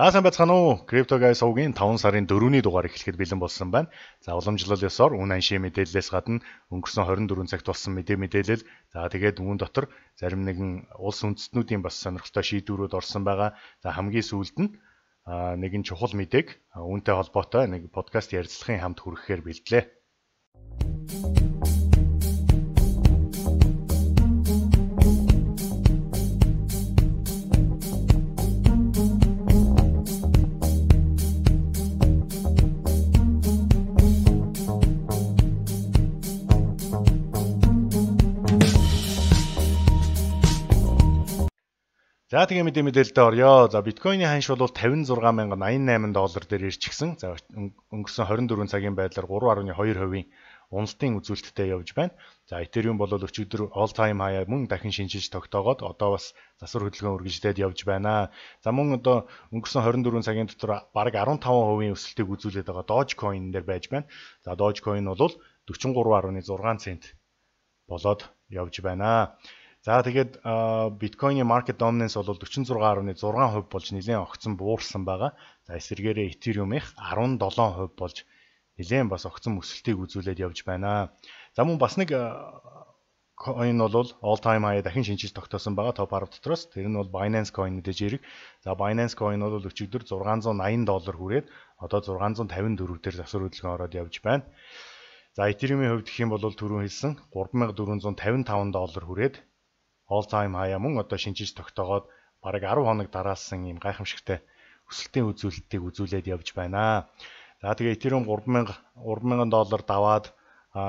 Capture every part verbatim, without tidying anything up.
За сайн байцгаана уу? CryptoGuy сувгийн таван сарын дөрөвний дугаар эхлэхэд бэлэн болсон байна. За уламжлал ёсоор үн аншийн мэдээллээс гадна өнгөрсөн хорин дөрвөн цагт болсон мэдээ мэдээлэл. За тэгээд үүн дотор зарим нэгэн улс үндэстнүүдийн бас сонирхолтой шийдвэрүүд орсон байгаа. За хамгийн сүүлд нь нэгэн чухал мэдээг үүнтэй холбоотой нэг подкаст ярилцлагын хамт хүргэхээр бэлдлээ. За тэгээ мэдээ мэдээлэлдээ орё. За биткойны ханш бол тавин зургаан мянга аян найман доллар дээр ирчихсэн. За өнгөрсөн хорин дөрвөн цагийн байдлаар гурван гаруй хоёр хувийн уналтын үзүүлэлттэй явж байна. За Ethereum бол өчигдөр all time high мөн дахин шинжилж тогтоогоод одоо бас засвар хөдөлгөөн үргэлжлээд явж байна. За мөн одоо өнгөрсөн хорин дөрвөн цагийн дотор бараг арван таван хувийн өсөлтийг үзүүлээд байгаа Dogecoin дээр байж байна. За Dogecoin бол дөрвөн гаруй зургаан цент болоод явж байна. За тэгээд биткойны market dominance бол дөрвөн зургаан гаруй зургаан хувь болж нэлээд огцон буурсан байгаа. За эсвэргээрээ Ethereum-ийнх арван долоон хувь болж нэлээд бас огцон өсөлтийг үзүүлээд явж байна. За мөн бас нэг coin бол all time high дахин шинжилж тогтоосон байгаа топ арав дотроос. Тэр нь бол Binance Coin гэж ирэг. За Binance Coin бол өчигдөр зургаан зуун аян доллар хүрээд одоо зургаан зуун тавин дөрөв дээр засвар хөдөлгөөн ороод явж байна. За Ethereum-ийн хувьд гэх юм бол түрүүн хэлсэн гурван мянга дөрвөн зуун тавин таван доллар хүрээд all time high мөн одоо шинжилж тогтоогоод бараг арав хоног дараалсан ийм гайхамшигтай өсөлтийн үзүүлэлтийг үзүүлээд явж байна. За тэгээ Ethereum гурван мянган доллар даваад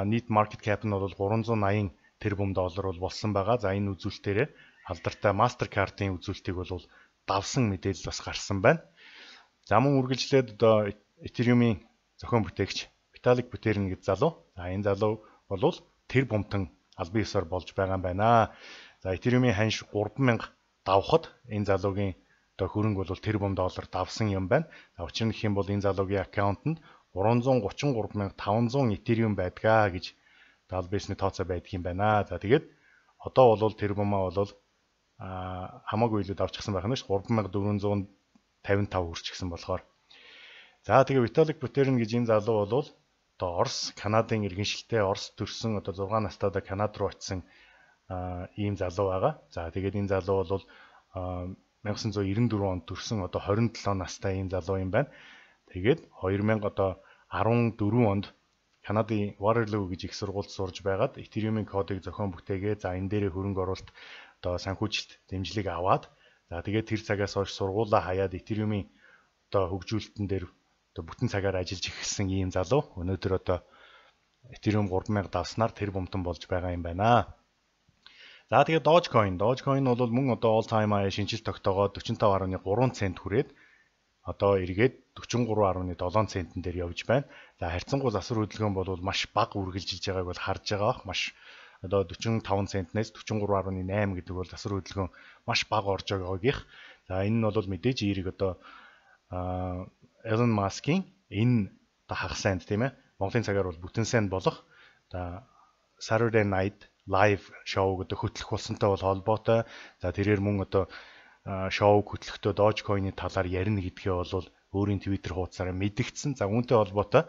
нийт market cap нь бол гурван зуун аян тэрбум доллар бол болсон байгаа. За энэ үзүүлэлтээрээ алдартай Mastercard-ийн үзүүлэлтийг бол давсан мэдээлэл бас гарсан байна. За мөн үргэлжлээд одоо Ethereum-ийн зохион бүтээгч Vitalik Buterin гэж залуу. За энэ залуу бол тэр бумтан албан ёсоор болж байгаа юм байна. За Ethereum-ийн ханш гурван мянга давхад энэ залуугийн одоо хөрөнгө бол тэрбум доллар давсан юм байна. За учир нь гэх юм бол энэ залуугийн аккаунтанд гурван зуун гучин гурван мянга таван зуун Ethereum байдгаа гэж даалбэсний тооцоо байдаг юм байна. За тэгээд одоо бол тэрбумаа бол а хамаагүй илүү давчихсан байх нь ш гурван мянга дөрвөн зуун тавин тав хүрчихсэн болохоор. За тэгээд Vitalik Buterin гэж энэ залуу бол одоо Орос, Канадын иргэншилтэй Орос төрсэн одоо зургаан настайдаа Канад руу очисон ийм залуу байгаа. За тэгээд энэ залуу бол найман девятьсот девяносто четыре онд төрсэн одоо хорин долоо настай ийм залуу юм байна. Тэгээд две тысячи дөрвөн онд Канадын Waterloo гэж их сургуульд сурж байгаад Ethereum-ийн кодыг зохион бүтээгээ. За энэ дээрээ хөрөнгө оруулалт одоо санхүүжилт дэмжлэг аваад за тэгээд тэр цагаас хойш сургуулаа хаяад Ethereum-ийн одоо хөгжүүлэлтэн дээр одоо бүтэн цагаар ажиллаж эхэлсэн ийм залуу. Өнөөдөр одоо Ethereum гурван мянга давснаар тэр бомтон болж байгаа юм байна. За тэгээд Dogecoin, Dogecoin бол мөн одоо all time high шинжилт тогтоогоод дөрвөн тав гаруй гурван цент хүрээд одоо эргээд дөрвөн гурван гаруй долоон центэн дээр явж байна. За харьцангуй засвар хөдөлгөөн бол маш бага үргэлжилж байгааг бол харж байгаа. Маш одоо дөрвөн таван центнээс дөрвөн гурван гаруй найман гэдэг бол засвар хөдөлгөөн маш бага орж байгаагийнх. За энэ нь бол мэдээж эерэг одоо Elon Musk-ийн энэ одоо хагас санд тийм ээ. Монголын цагаар бол бүтэн санд болох одоо Saturday Night Live шоу гэдэг хөтлөх болсонтой бол холбоотой. За тэрээр мөн одоо шоуг хөтлөхдөө Dogecoin-ийн талаар ярина гэдгээ бол өөрийн Twitter хуудасаараа мэдгдсэн. За үүнтэй холбоотой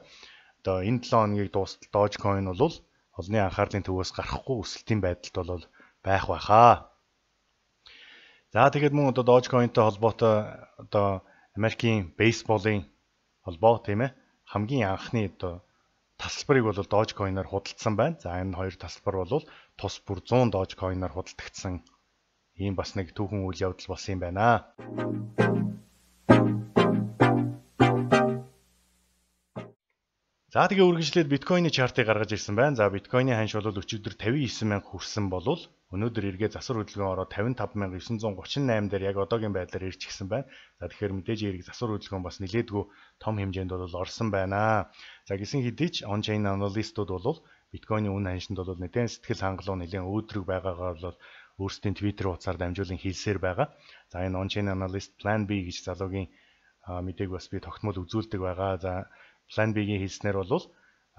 одоо энэ долоо хоногийг дуустал Dogecoin бол олонний анхаарлын төвөөс гарахгүй өсөлтийн байдалд бол байх байхаа. За тэгээд мөн одоо Dogecoin-тэй холбоотой одоо Америкийн бейсболын холбоо тийм ээ хамгийн анхны одоо тасалбарыг бол Dogecoin-аар худалдсан байна. За энэ хоёр тасалбар бол тус бүр зуун Dogecoin-аар худалдагдсан ийм бас нэг түүхэн үйл явдал болсон юм байна. За тэгээ үргэлжлээд биткойны чартыг гаргаж ирсэн байна. За биткойны ханш бол өчигдөр тавин девять мянга хүрсэн болвол өнөөдөр эргээ засвар хөдөлгөөн ороод тавин тав мянга девьсун гучин восемь дээр яг одоогийн байдлаар ирчихсэн байна. За тэгэхээр мэдээж эрэг засвар хөдөлгөөн бас нэлээдгүй том хэмжээнд бол орсон байна. За гисэн хэдий ч on-chain аналистууд бол биткойны үн ханшинд бол нэгэн сэтгэл хангалуун нэлээд өөдрөг байгаагаар бол өөрсдийн Twitter хуудасаар дамжуулан хэлсээр байгаа. За энэ on-chain analyst Plan B гэж залуугийн мэдээг бас би тогтмол үзүүлдэг байгаа. За Plan B-ийн хэлснээр бол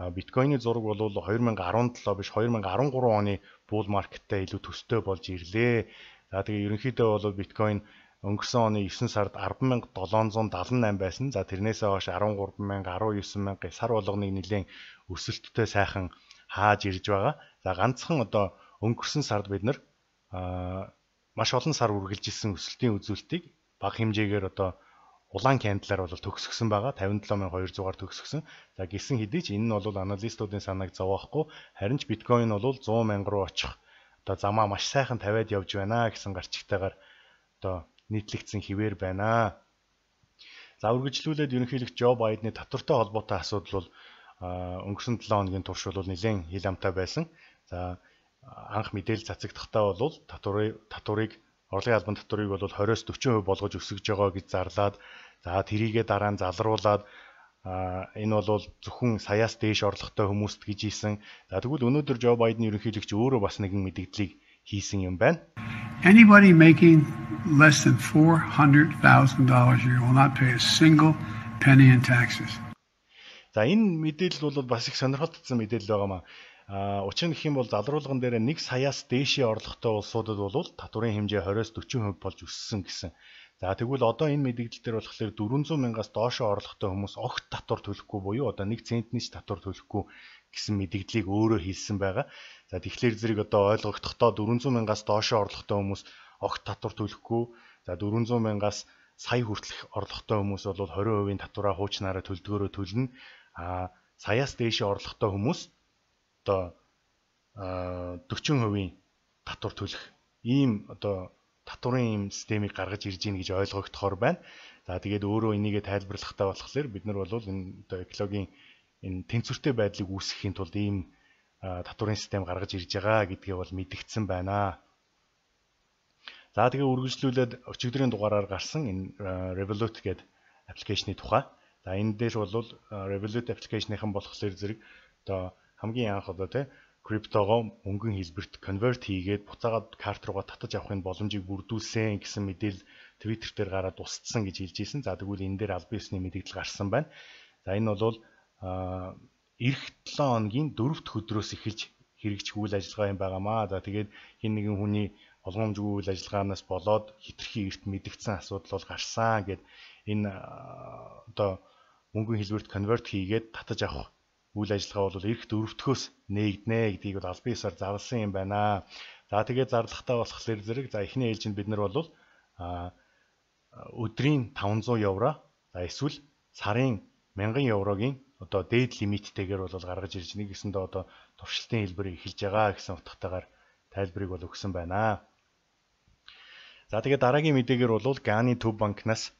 биткойны зураг бол две тысячи десять биш две тысячи десять оны bull market-тай илүү төстэй болж ирлээ. За тэгээ ерөнхийдөө бол биткойн өнгөрсөн оны девдүгээр сард арван мянга долоон зуун дагалан найман байсан. За тэрнээсээ хойш арван гурван мянга, арван девсан мянга сар болгоныг нэлээд өсөлттэй сайхан хааж ирж байгаа. За ганцхан одоо өнгөрсөн сард бид нар маш олон сар үргэлжилсэн өсөлтийн үзүүлэлтийг бага хэмжээгээр одоо улаан кандалаар бол төгсгсөн байгаа. тавин долоо мянга хоёр зуугаар төгсгсөн. За гисэн хэдий ч энэ нь бол аналистуудын санааг зовоохгүй. Харин ч биткойн бол зуун мянга руу очих одоо замаа маш сайхан тавиад явж байна гэсэн гарчигтайгаар одоо нийтлэгдсэн хിവэр байна. За үргэлжлүүлээд ерөнхийлөгч Жо Байдны татвартай холбоотой асуудал бол өнгөрсөн долоо хоногийн турш бол нэлээд хил амтай байсан. За анх мэдээлэл цацагдахдаа бол татварыг татварыг орлогын албан татварыг бол двадцать-аас forty percent болгож өсгөж байгаа гэж зарлаад за тэрийгээ дараа нь залруулад энэ бол зөвхөн саяас дээш орлоготой хүмүүст гэж ийсэн. За тэгвэл өнөөдөр Жо Байден ерөнхийлөгч өөрөө бас нэгэн мэдээллийг хийсэн юм байна. Anybody making less than four hundred thousand dollars a year will not pay a single penny in taxes. За энэ мэдээлэл бол бас их сонирхолтой мэдээлэл байгаа маа. А учир нь гэх юм бол залруулган дээр нэг саяас дээшээ орлоготой улсуудад бол татварын хэмжээ двадцать-аас forty percent болж өссөн гэсэн. За тэгвэл одоо энэ мэдээлэл дээр болохоор four hundred мянгаас доошоо орлоготой хүмүүс огт татвар төлөхгүй буюу одоо нэг центний ч татвар төлөхгүй гэсэн мэдээллийг өөрөө хэлсэн байгаа. За тэгэхээр зэрэг одоо ойлгогдохдоо four hundred мянгаас доошоо орлоготой хүмүүс огт татвар төлөхгүй. За four hundred мянгаас сая хүртэлх орлоготой хүмүүс бол twenty percent татвараа хуучнаараа төлдгөөрөө төлнө. А саяас дээшээ орлоготой хүмүүс одоо forty percent татвар төлөх ийм одоо татварын ийм системийг гаргаж ирж гин гэж ойлгогдохоор байна. За тэгээд өөрөө энийгээ тайлбарлахтаа болохоор бид нар бол энэ одоо экологийн энэ тэнцвэртэй байдлыг үүсгэхийн тулд ийм татварын систем гаргаж ирж байгаа гэдгээ бол мэдгдсэн байна. За тэгээд үргэлжлүүлээд өчигдрийн дугаараар гарсан энэ Revolut гэдэг аппликейшны тухай. За энэ дээр бол Revolut аппликейшныхан болохоор зэрэг одоо хамгийн анх одоо тий криптогоо мөнгөн хэлбэрт конверт хийгээд буцаагаад карт руугаа татаж авахын боломжийг бүрдүүлсэн гэсэн мэдээлэл Twitter дээр гараад устсан гэж хэлж ийсэн. За тэгвэл энэ дээр албан ёсны мэдээлэл гарсан байна. За энэ бол эх seven хоногийн дөрөвт өдрөөс эхэлж хэрэгжих үйл ажиллагаа юм байгаамаа. За тэгээд хин нэгэн хүний болгоомжгүй үйл ажиллагаанаас болоод хитрхи эрт мэдгдсэн асуудал бол гарсан гэд энэ одоо мөнгөн хэлбэрт конверт хийгээд татаж авах үйл ажиллагаа бол эх дөрөвтгөөс нээгднэ гэдгийг бол албан ёсоор зарласан юм байна. За тэгээд зарлахтаа болохоор зэрэг за эхний ээлжинд бид нар бол өдрийн five hundred евро за эсвэл сарын one thousand еврогийн одоо дээд лимиттэйгээр бол гаргаж ирж нэг гэсэндээ одоо туршилтын хэлбэрийг эхэлж байгаа гэсэн утгатайгаар тайлбарыг бол өгсөн байна. За тэгээд дараагийн мэдээгээр бол Gani төв банкнаас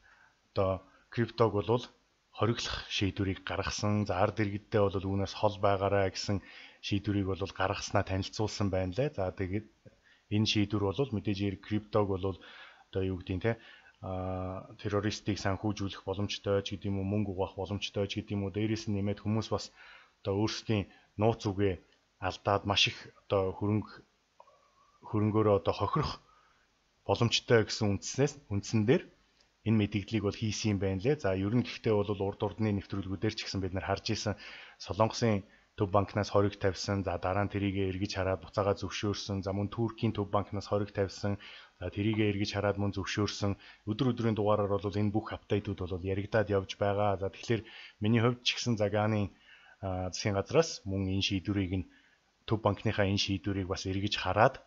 одоо криптог бол хориглох шийдвэрийг гаргасан. За ард иргэдтэй бол үүнээс хол байгаарай гэсэн шийдвэрийг бол гаргаснаа танилцуулсан байна лээ. За тэгээд энэ шийдвэр бол мэдээж криптог бол одоо юу гэдгийг те а террористыг санхүүжүүлэх боломжтой ч гэдэг юм уу, мөнгө угаах боломжтой ч гэдэг юм уу, дээрээс нь нэмээд хүмүүс бас одоо өөрсдийн нууц үгээ алдаад маш их одоо хөрөнгө хөрөнгөөрөө одоо хохирох боломжтой гэсэн үндснээс үндсэн дээр энэ мэдээллийг бол хийсэн юм байна лээ. За ер нь гэхдээ бол урд урдны нэвтрүүлгүүдээр ч гэсэн бид нар харж исэн Солонгосын төв банкнаас хориг тавьсан, за дараа нь тэрийгэ эргэж хараад буцаага зөвшөөрсөн, за мөн Туркийн төв банкнаас хориг тавьсан, за тэрийгэ эргэж хараад мөн зөвшөөрсөн. Өдөр өдрийн дугаараар бол энэ бүх апдейтууд бол яригадаад явж байгаа. За тэгэхээр миний хувьд ч гэсэн Заганы засгийн газраас мөн энэ шийдвэрийг нь төв банкныхаа энэ шийдвэрийг бас эргэж хараад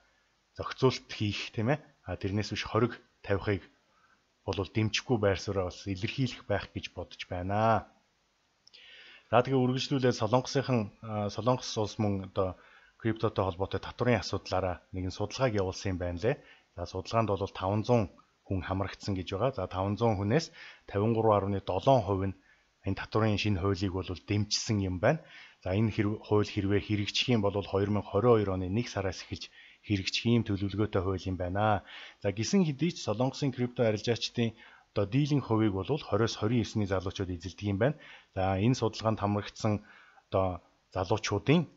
зохицуулт хийх тийм ээ. А тэрнээс биш хориг тавихыг бол дэмжихгүй байр сууриа бас илэрхийлэх байх гэж бодож байна. За тэгээ үргэлжлүүлээд Солонгосынхан Солонгос улс мөн одоо криптотой холбоотой татварын асуудлаараа нэгэн судалгааг явуулсан юм байна лээ. За судалгаанд бол five hundred хүн хамрагдсан гэж байгаа. За five hundred хүнээс fifty-three point seven percent нь энэ татварын шинэ хуулийг бол дэмжсэн юм байна. За энэ хууль хэрвээ хэрэгжих юм бол twenty twenty-two оны нэг сараас эхэлж хэрэгжих юм төлөвлөгөөтэй хууль юм байна. За гисэн хэдий ч Солонгосын крипто арилжаачдын одоо дийлэн хувийг бол twenty-с twenty-nine-ний залуучууд эзэлдэг юм байна. За энэ судалгаанд хамрагдсан одоо залуучуудын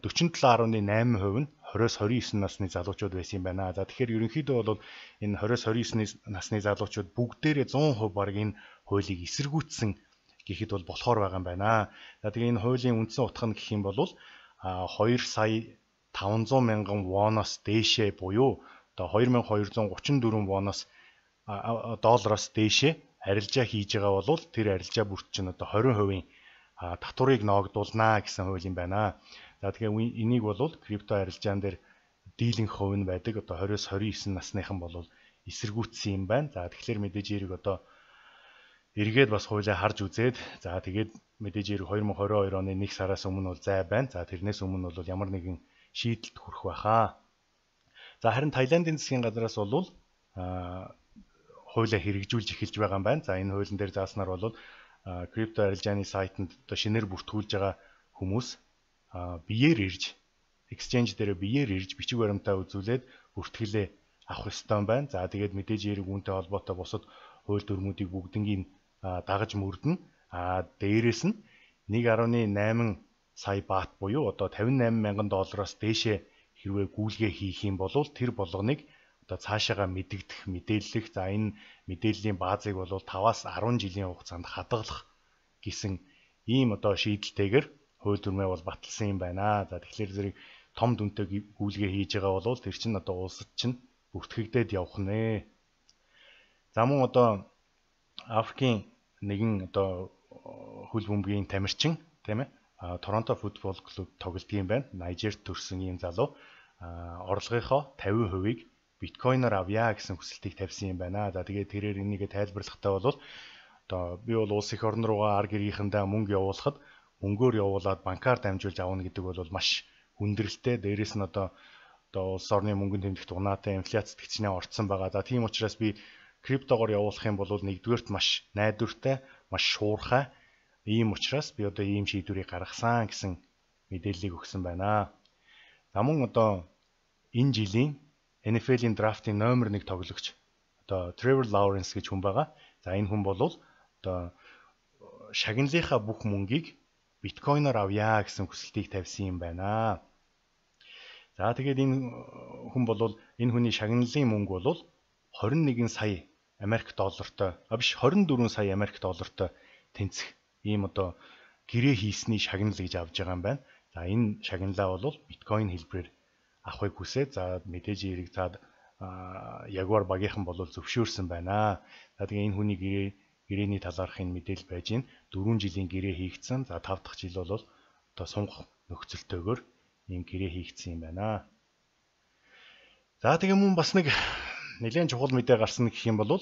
forty-seven point eight percent нь twenty-с twenty-nine насны залуучууд байсан юм байна. За тэгэхээр ерөнхийдөө бол энэ twenty-с twenty-nine насны залуучууд бүгдээрээ one hundred percent баг энэ хуулийг эсэргүүцсэн гэхэд бол болохоор байгаа юм байна. За тэгээ энэ хуулийн үндсэн утга нь гэх юм бол two сая five hundred мянган воноос дээшээ буюу одоо two thousand two hundred thirty-four воноос доллароос дээшээ арилжаа хийж байгаа бол тэр арилжаа бүрт чинь одоо twenty percent татварыг ноогдуулнаа гэсэн хууль юм байна. За тэгэхээр энийг бол крипто арилжаан дээр дийлэнх хувь нь байдаг. Одоо twenty-с twenty-nine насныхан бол эсэргүүцсэн юм байна. За тэгэхээр мэдээж эрэг одоо эргээд бас хуулиа харж үзээд за тэгээд мэдээж эрэг twenty twenty-two оны нэг сараас өмнө бол зай байна. За тэрнээс өмнө бол ямар нэгэн шийдэлд хүрэх байхаа. За харин Таиландын засгийн газраас бол хуулиа хэрэгжүүлж эхэлж байгаа юм байна. За энэ хуулийн дээр зааснаар бол крипто арилжааны сайтанд одоо шинээр бүртгүүлж байгаа хүмүүс биеэр ирж exchange дээр биеэр ирж бичиг баримтаа үзүүлээд бүртгэлээ авах ёстой юм байна. За тэгээд мэдээж эрэг үүнтэй холбоотой бусад хууль дүрмүүдийг бүгднийг дагаж мөрдөн. А дээрээс нь one point eight сая баат буюу одоо fifty-eight мянган доллароос дээшээ хэрвээ гүйлгээ хийх юм бол тэр болгоныг одоо цаашаага мэдэгдэх мэдээллэх за энэ мэдээллийн баазыг бол five-аас ten жилийн хугацаанд хадгалах гэсэн ийм одоо шийдэлтэйгээр хууль дүрмээ бол баталсан юм байна. За тэгэхээр зэрэг том дүнтэй гүйлгээ хийж байгаа бол тэр чинь одоо улсад чинь бүртгэгдээд явах нэ. За мөн одоо Африкийн нэгэн одоо хөл бөмбөгийн тамирчин тийм ээ Торонто футбол клуб тоглодог юм байна. Найжерт төрсэн ийм залуу орлогынхоо fifty percent-ийг биткойноор авъя гэсэн хүсэлтийг тавьсан юм байна. За тэгээд тэрээр энийг тайлбарлахдаа бол одоо би бол улс их орн руугаа ар гэргийнхэндээ мөнгө явуулахад мөнгөөр явуулаад банкар дамжуулж авна гэдэг бол маш хүндрэлтэй. Дээрээс нь одоо одоо улс орны мөнгөнд тэмдэгт унаатай инфляцид гिचнээ орцсон байгаа. За тийм учраас би криптогоор явуулах юм бол нэгдүгээрт маш найдвартай, маш шуурхай. Ийм учраас би одоо ийм шийдвэрийг гаргасан гэсэн мэдээллийг өгсөн байна. За мөн одоо энэ жилийн Н Ф Л-ийн драфтын номер one тоглогч одоо Trevor Lawrence гэж хүн байгаа. За энэ хүн бол одоо шагналынхаа бүх мөнгийг биткойноор авъя гэсэн хүсэлтийг тавьсан юм байна. За тэгээд энэ хүн бол энэ хүний шагналын мөнгө бол twenty-one сая Америк доллартай, а биш twenty-four сая Америк доллартай тэнцэх ийм одоо гэрээ хийсний шагнал гэж авж байгаа юм байна. За энэ шагналаа бол биткойн хэлбэрээр авахыг хүсээд за мэдээж эрэг цаад Jaguar багийнхан бол зөвшөөрсөн байна. За тэгээ энэ хүний гэрээ гэрээний талаарх энэ мэдээлэл байж гин four жилийн гэрээ хийгдсэн. За five дахь жил бол одоо сунгах нөхцөлтөөр ийм гэрээ хийгдсэн юм байна. За тэгээ мөн бас нэг нэлээд чухал мэдээ гарсан гэх юм бол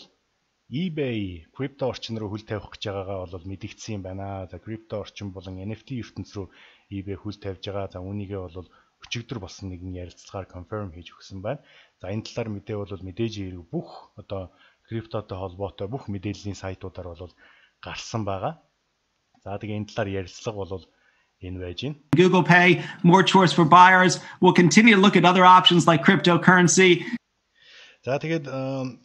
eBay крипто орчин руу хөл тавих гэж байгаагаа бол мэдэгдсэн юм байна. За крипто орчин болон Н Ф Т ертөнц рүү eBay хөл тавьж байгаа. За үүнийгээ бол өчигдөр болсон нэгэн ярилцлагаар конферм хийж өгсөн байна. За энэ талаар мэдээ бол мэдээж ирэх бүх одоо криптотой холбоотой бүх мэдээллийн сайтуудаар бол гарсан байгаа. За тэгээ энэ талаар ярилцлага бол энэ байж байна. Google Pay, more choice for buyers. We'll continue to look at other options like cryptocurrency. За тэгээд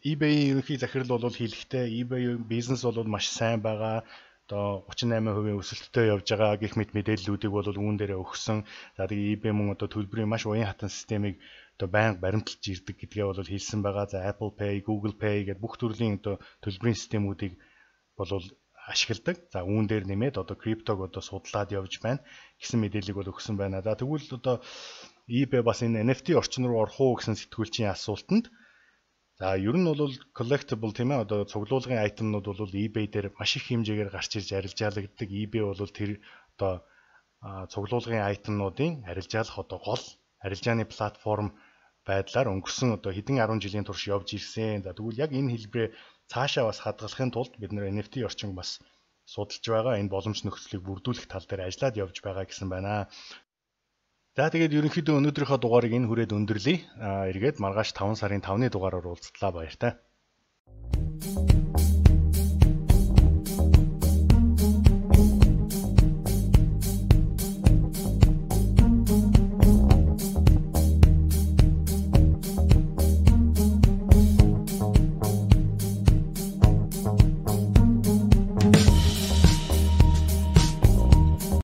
eBay ерөнхий захирал бол хэлэхдээ eBay бизнес бол маш сайн байгаа. Одоо thirty-eight percent өсөлттэй явж байгаа гэх мэт мэдээллүүдийг бол үүн дээрээ өгсөн. За тэгээ eBay мөн одоо төлбөрийн маш уян хатан системийг одоо байнга баримталж ирдэг гэдгээ бол хэлсэн байгаа. За Apple Pay, Google Pay гэдэг бүх төрлийн одоо төлбөрийн системүүдийг бол ашигладаг. За үүн дээр нэмээд одоо криптог одоо судлаад явж байна гэсэн мэдээллийг бол өгсөн байна. За тэгвэл одоо eBay бас энэ Н Ф Т орчин руу орох уу гэсэн сэтгүүлчийн асуултанд за ер нь бол collectible тийм ээ одоо цуглуулгын айтемнууд бол eBay дээр маш их хэмжээгээр гарч ирж арилжаалагддаг. eBay бол тэр одоо цуглуулгын айтемнуудын арилжаалах одоо гол арилжааны платформ байдлаар өнгөрсөн одоо хэдэн ten жилийн турш явж ирсэн. За тэгвэл яг энэ хэлбэрээ цаашаа бас хадгалахын тулд бид нэр Н Ф Т орчин бас судалж байгаа. Энэ боломж нөхцөлийг бүрдүүлэх тал дээр ажиллаад явж байгаа гэсэн байна. За тэгээд ерөнхийдөө өнөөдрийнхөө дугаарыг энэ хүрээд өндөрлөе. Аа эргээд маргааш five сарын five-ны дугаараар уулзтлаа баяртай.